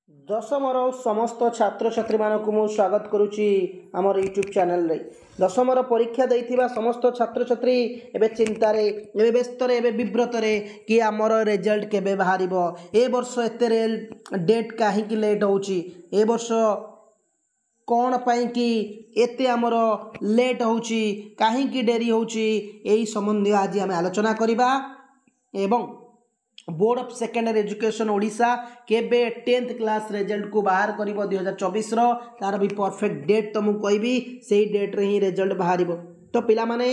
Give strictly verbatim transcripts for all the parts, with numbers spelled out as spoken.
ଦଶମର ସମସ୍ତ ଛାତ୍ରଛାତ୍ରୀମାନଙ୍କୁ ମୁଁ ସ୍ୱାଗତ କରୁଛି ଆମର ୟୁଟ୍ୟୁବ୍ ଚ୍ୟାନେଲରେ। ଦଶମର ପରୀକ୍ଷା ଦେଇଥିବା ସମସ୍ତ ଛାତ୍ରଛାତ୍ରୀ ଏବେ ଚିନ୍ତାରେ, ଏବେ ବ୍ୟସ୍ତରେ, ଏବେ ବିବ୍ରତରେ କି ଆମର ରେଜଲ୍ଟ କେବେ ବାହାରିବ, ଏ ବର୍ଷ ଏତେ ଡେଟ୍ କାହିଁକି ଲେଟ୍ ହେଉଛି, ଏ ବର୍ଷ କ'ଣ ପାଇଁକି ଏତେ ଆମର ଲେଟ୍ ହେଉଛି, କାହିଁକି ଡେରି ହେଉଛି, ଏହି ସମ୍ବନ୍ଧୀୟ ଆଜି ଆମେ ଆଲୋଚନା କରିବା। ଏବଂ board of secondary education Odisha କେବେ ଟେନ୍ଥ କ୍ଲାସ୍ ରେଜଲ୍ଟକୁ ବାହାର କରିବ ଦୁଇ ହଜାର ଚବିଶର, ତା'ର ବି ପରଫେକ୍ଟ ଡେଟ୍ ତ ମୁଁ କହିବି, ସେଇ ଡେଟ୍ରେ ହିଁ ରେଜଲ୍ଟ ବାହାରିବ। ତ ପିଲାମାନେ,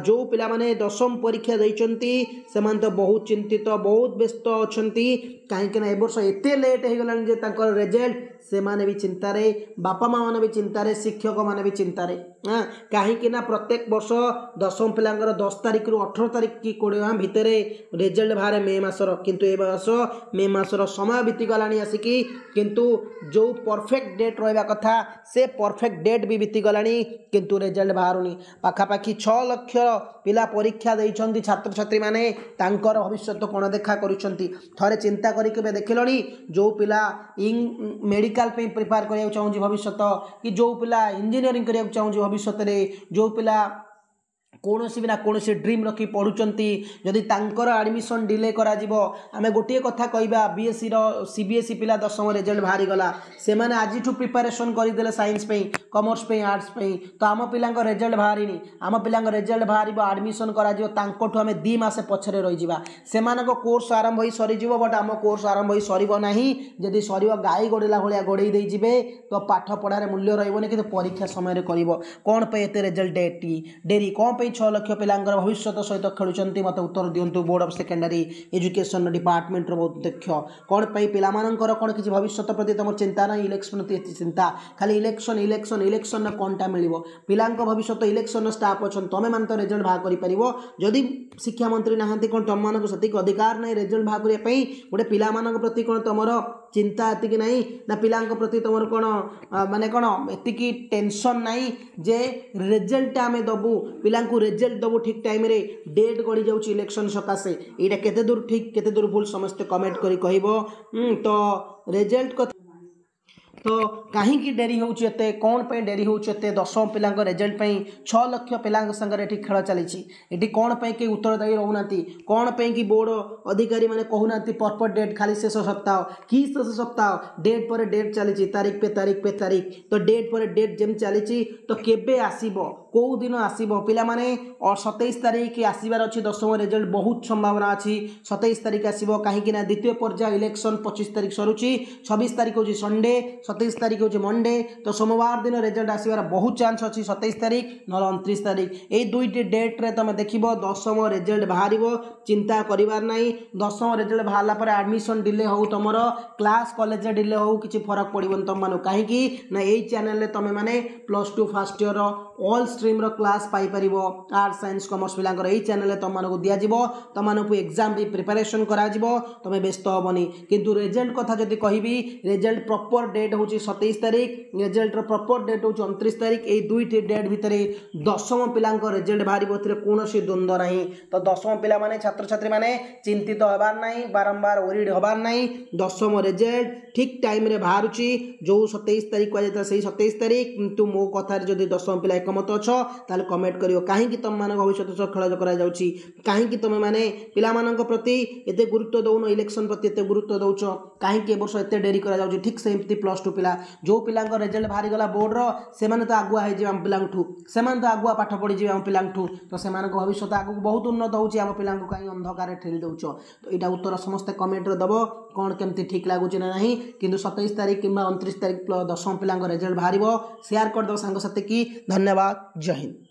ଯେଉଁ ପିଲାମାନେ ଦଶମ ପରୀକ୍ଷା ଦେଇଛନ୍ତି, ସେମାନେ ତ ବହୁତ ଚିନ୍ତିତ, ବହୁତ ବ୍ୟସ୍ତ ଅଛନ୍ତି। କାହିଁକିନା ଏ ବର୍ଷ ଏତେ ଲେଟ୍ ହେଇଗଲାଣି ଯେ ତାଙ୍କର ରେଜଲ୍ଟ, ସେମାନେ ବି ଚିନ୍ତାରେ, ବାପା ମା' ମାନେ ବି ଚିନ୍ତାରେ, ଶିକ୍ଷକମାନେ ବି ଚିନ୍ତାରେ। କାହିଁକି ନା ପ୍ରତ୍ୟେକ ବର୍ଷ ଦଶମ ପିଲାଙ୍କର ଦଶ ତାରିଖରୁ ଅଠର ତାରିଖ କି କୋଡ଼ିଏ ଭିତରେ ରେଜଲ୍ଟ ବାହାରେ ମେ ମାସର। କିନ୍ତୁ ଏ ବର୍ଷ ମେ ମାସର ସମୟ ବିତିଗଲାଣି ଆସିକି, କିନ୍ତୁ ଯେଉଁ ପରଫେକ୍ଟ ଡେଟ୍ ରହିବା କଥା, ସେ ପରଫେକ୍ଟ ଡେଟ୍ ବି ବିତିଗଲାଣି, କିନ୍ତୁ ରେଜଲ୍ଟ ବାହାରୁନି। ପାଖାପାଖି ଛଅ ଲକ୍ଷ ପିଲା ପରୀକ୍ଷା ଦେଇଛନ୍ତି। ଛାତ୍ରଛାତ୍ରୀମାନେ ତାଙ୍କର ଭବିଷ୍ୟତ କ'ଣ ଦେଖା କରୁଛନ୍ତି, ଥରେ ଚିନ୍ତା କରି କେବେ ଦେଖିଲଣି? ଯେଉଁ ପିଲା ଇଂ ମେଡ଼ିକାଲ ପାଇଁ ପ୍ରିପେୟାର କରିବାକୁ ଚାହୁଁଛି ଭବିଷ୍ୟତ, କି ଯେଉଁ ପିଲା ଇଞ୍ଜିନିୟରିଂ କରିବାକୁ ଚାହୁଁଛି ଭବିଷ୍ୟତରେ, ଯେଉଁ ପିଲା କୌଣସି ବି ନା କୌଣସି ଡ୍ରିମ୍ ରଖି ପଢ଼ୁଛନ୍ତି, ଯଦି ତାଙ୍କର ଆଡ଼ମିସନ୍ ଡିଲେ କରାଯିବ। ଆମେ ଗୋଟିଏ କଥା କହିବା, ବିଏସ୍ସିର ସି ବି ଏସ୍ ଇ ପିଲା ଦଶମ ରେଜଲ୍ଟ ବାହାରିଗଲା, ସେମାନେ ଆଜିଠୁ ପ୍ରିପାରେସନ୍ କରିଦେଲେ ସାଇନ୍ସ ପାଇଁ, କମର୍ସ ପାଇଁ, ଆର୍ଟ୍ସ ପାଇଁ। ତ ଆମ ପିଲାଙ୍କ ରେଜଲ୍ଟ ବାହାରିନି। ଆମ ପିଲାଙ୍କ ରେଜଲ୍ଟ ବାହାରିବ, ଆଡ଼ମିସନ୍ କରାଯିବ, ତାଙ୍କଠୁ ଆମେ ଦୁଇ ମାସ ପଛରେ ରହିଯିବା। ସେମାନଙ୍କ କୋର୍ସ ଆରମ୍ଭ ହୋଇ ସରିଯିବ, ବଟ୍ ଆମ କୋର୍ସ ଆରମ୍ଭ ହୋଇ ସରିବ ନାହିଁ। ଯଦି ସରିବ, ଗାଈ ଗୋଡ଼େଇଲା ଭଳିଆ ଗୋଡ଼େଇ ଦେଇଯିବେ। ତ ପାଠ ପଢ଼ାରେ ମୂଲ୍ୟ ରହିବନି, କିନ୍ତୁ ପରୀକ୍ଷା ସମୟରେ କରିବ। କ'ଣ ପାଇଁ ଏତେ ରେଜଲ୍ଟ ଡେଟ୍ ଡେରି? କ'ଣ ପାଇଁ ଛଅ ଲକ୍ଷ ପିଲାଙ୍କର ଭବିଷ୍ୟତ ସହିତ ଖେଳୁଛନ୍ତି? ମୋତେ ଉତ୍ତର ଦିଅନ୍ତୁ ବୋର୍ଡ଼ ଅଫ୍ ସେକେଣ୍ଡାରୀ ଏଜୁକେସନ୍ ଡିପାର୍ଟମେଣ୍ଟର ବହୁତ ଦକ୍ଷ। କ'ଣ ପାଇଁ? ପିଲାମାନଙ୍କର କ'ଣ କିଛି ଭବିଷ୍ୟତ ପ୍ରତି ତୁମର ଚିନ୍ତା ନାହିଁ? ଇଲେକ୍ସନ୍ ପ୍ରତି ଏତେ ଚିନ୍ତା, ଖାଲି ଇଲେକ୍ସନ୍, ଇଲେକ୍ସନ୍, ଇଲେକ୍ସନ୍ରେ କ'ଣଟା ମିଳିବ ପିଲାଙ୍କ ଭବିଷ୍ୟତ? ଇଲେକ୍ସନ୍ର ଷ୍ଟାଫ୍ ଅଛନ୍ତି, ତୁମେମାନେ ତ ରେଜଲ୍ଟ ବାହାର କରିପାରିବ। ଯଦି ଶିକ୍ଷାମନ୍ତ୍ରୀ ନାହାନ୍ତି, କ'ଣ ତୁମମାନଙ୍କୁ ସେତିକି ଅଧିକାର ନାହିଁ ରେଜଲ୍ଟ ବାହାର କରିବା ପାଇଁ? ଗୋଟେ ପିଲାମାନଙ୍କ ପ୍ରତି କ'ଣ ତୁମର ଚିନ୍ତା ଏତିକି ନାହିଁ ନା ପିଲାଙ୍କ ପ୍ରତି ତୁମର କ'ଣ ମାନେ କ'ଣ ଏତିକି ଟେନସନ୍ ନାହିଁ ଯେ ରେଜଲ୍ଟଟା ଆମେ ଦେବୁ, ପିଲାଙ୍କୁ ରେଜଲ୍ଟ ଦେବୁ ଠିକ୍ ଟାଇମ୍ରେ? ଡେଟ୍ ଗଡ଼ି ଯାଉଛି ଇଲେକ୍ସନ୍ ସକାଶେ। ଏଇଟା କେତେ ଦୂର ଠିକ୍, କେତେ ଦୂର ଭୁଲ, ସମସ୍ତେ କମେଣ୍ଟ କରି କହିବ। ତ ରେଜଲ୍ଟ କଥା ତ କାହିଁକି ଡେରି ହେଉଛି ଏତେ? କ'ଣ ପାଇଁ ଡେରି ହେଉଛି ଏତେ ଦଶମ ପିଲାଙ୍କ ରେଜଲ୍ଟ ପାଇଁ? ଛଅ ଲକ୍ଷ ପିଲାଙ୍କ ସାଙ୍ଗରେ ଏଠି ଖେଳ ଚାଲିଛି। ଏଠି କ'ଣ ପାଇଁ କେହି ଉତ୍ତରଦାୟୀ ରହୁନାହାନ୍ତି? କ'ଣ ପାଇଁ କି ବୋର୍ଡ଼ ଅଧିକାରୀମାନେ କହୁନାହାନ୍ତି ପ୍ରପର୍ ଡେଟ୍? ଖାଲି ଶେଷ ସପ୍ତାହ କି ଶେଷ ସପ୍ତାହ, ଡେଟ୍ ପରେ ଡେଟ୍ ଚାଲିଛି, ତାରିଖ ପେ ତାରିଖ ପେ ତାରିଖ। ତ ଡେଟ୍ ପରେ ଡେଟ୍ ଯେମିତି ଚାଲିଛି, ତ କେବେ ଆସିବ, କେଉଁ ଦିନ ଆସିବ ପିଲାମାନେ? ସତେଇଶ ତାରିଖ ଆସିବାର ଅଛି ଦଶମ ରେଜଲ୍ଟ, ବହୁତ ସମ୍ଭାବନା ଅଛି ସତେଇଶ ତାରିଖ ଆସିବ। କାହିଁକି ନା ଦ୍ୱିତୀୟ ପର୍ଯ୍ୟାୟ ଇଲେକ୍ସନ୍ ପଚିଶ ତାରିଖ ସରୁଛି, ଛବିଶ ତାରିଖ ହେଉଛି ସଣ୍ଡେ, ସତେଇଶ ତାରିଖ ହେଉଛି ମଣ୍ଡେ। ତ ସୋମବାର ଦିନ ରେଜଲ୍ଟ ଆସିବାର ବହୁତ ଚାନ୍ସ ଅଛି, ସତେଇଶ ତାରିଖ ନହେଲେ ଅଣତିରିଶ ତାରିଖ। ଏଇ ଦୁଇଟି ଡେଟ୍ରେ ତୁମେ ଦେଖିବ ଦଶମ ରେଜଲ୍ଟ ବାହାରିବ। ଚିନ୍ତା କରିବାର ନାହିଁ। ଦଶମ ରେଜଲ୍ଟ ବାହାରିଲା ପରେ ଆଡ଼ମିସନ୍ ଡିଲେ ହେଉ, ତୁମର କ୍ଲାସ୍ କଲେଜରେ ଡିଲେ ହେଉ, କିଛି ଫରକ ପଡ଼ିବନି ତୁମମାନଙ୍କୁ। କାହିଁକି ନା ଏଇ ଚ୍ୟାନେଲରେ ତୁମେମାନେ plus two first year all ଷ୍ଟ୍ରିମ୍ର class ପାଇପାରିବ। ଆର୍ଟ୍ସ, ସାଇନ୍ସ, କମର୍ସ ପିଲାଙ୍କର ଏଇ ଚ୍ୟାନେଲରେ ତୁମମାନଙ୍କୁ ଦିଆଯିବ। ତୁମମାନଙ୍କୁ ଏକ୍ଜାମ୍ ବି ପ୍ରିପାରେସନ୍ କରାଯିବ, ତୁମେ ବ୍ୟସ୍ତ ହେବନି। କିନ୍ତୁ ରେଜଲ୍ଟ କଥା ଯଦି କହିବି, ରେଜଲ୍ଟ ପ୍ରପର୍ ଡେଟ୍ ହେଉଛି ସତେଇଶ ତାରିଖ, ରେଜଲ୍ଟର ପ୍ରପର୍ ଡେଟ୍ ହେଉଛି ଅଣତିରିଶ ତାରିଖ। ଏଇ ଦୁଇଟି ଡେଟ୍ ଭିତରେ ଦଶମ ପିଲାଙ୍କ ରେଜଲ୍ଟ ବାହାରିବ, ଏଥିରେ କୌଣସି ଦ୍ୱନ୍ଦ୍ୱ ନାହିଁ। ତ ଦଶମ ପିଲାମାନେ, ଛାତ୍ରଛାତ୍ରୀମାନେ ଚିନ୍ତିତ ହେବାର ନାହିଁ, ବାରମ୍ବାର ୱରିଡ୍ ହେବାର ନାହିଁ। ଦଶମ ରେଜଲ୍ଟ ଠିକ୍ ଟାଇମ୍ରେ ବାହାରୁଛି, ଯେଉଁ ସତେଇଶ ତାରିଖ କୁହାଯାଇଥିଲା, ସେଇ ସତେଇଶ ତାରିଖ। କିନ୍ତୁ ମୋ କଥାରେ ଯଦି ଦଶମ ପିଲା ଏକମତ ଅଛ, ତାହେଲେ କମେଣ୍ଟ କରିବ। କାହିଁକି ତୁମମାନଙ୍କ ଭବିଷ୍ୟତ ସହ ଖେଳ କରାଯାଉଛି? କାହିଁକି ତୁମେମାନେ ପିଲାମାନଙ୍କ ପ୍ରତି ଏତେ ଗୁରୁତ୍ୱ ଦେଉନ, ଇଲେକ୍ସନ୍ ପ୍ରତି ଏତେ ଗୁରୁତ୍ୱ ଦେଉଛ? କାହିଁକି ଏ ବର୍ଷ ଏତେ ଡେରି କରାଯାଉଛି? ଠିକ୍ ସେମିତି ପ୍ଲସ୍ ଟୁ ପିଲା, ଯେଉଁ ପିଲାଙ୍କ ରେଜଲ୍ଟ ବାହାରିଗଲା ବୋର୍ଡ଼ର, ସେମାନେ ତ ଆଗୁଆ ହେଇଯିବେ ଆମ ପିଲାଙ୍କଠୁ, ସେମାନେ ତ ଆଗୁଆ ପାଠ ପଢ଼ିଯିବେ ଆମ ପିଲାଙ୍କଠୁ। ତ ସେମାନଙ୍କ ଭବିଷ୍ୟତ ଆଗକୁ ବହୁତ ଉନ୍ନତ ହେଉଛି। ଆମ ପିଲାଙ୍କୁ କାହିଁ ଅନ୍ଧକାରରେ ଠେଲି ଦେଉଛ? ତ ଏଇଟା ଉତ୍ତର ସମସ୍ତେ କମେଣ୍ଟରେ ଦେବ, କ'ଣ କେମିତି ଠିକ୍ ଲାଗୁଛି ନା ନାହିଁ। କିନ୍ତୁ ସତେଇଶ ତାରିଖ କିମ୍ବା ଅଣତିରିଶ ତାରିଖ ଦଶମ ପିଲାଙ୍କ ରେଜଲ୍ଟ ବାହାରିବ। ସେୟାର କରିଦେବ ସାଙ୍ଗସାଥି କି। ଧନ୍ୟବାଦ, ଜୟ ହିନ୍ଦ।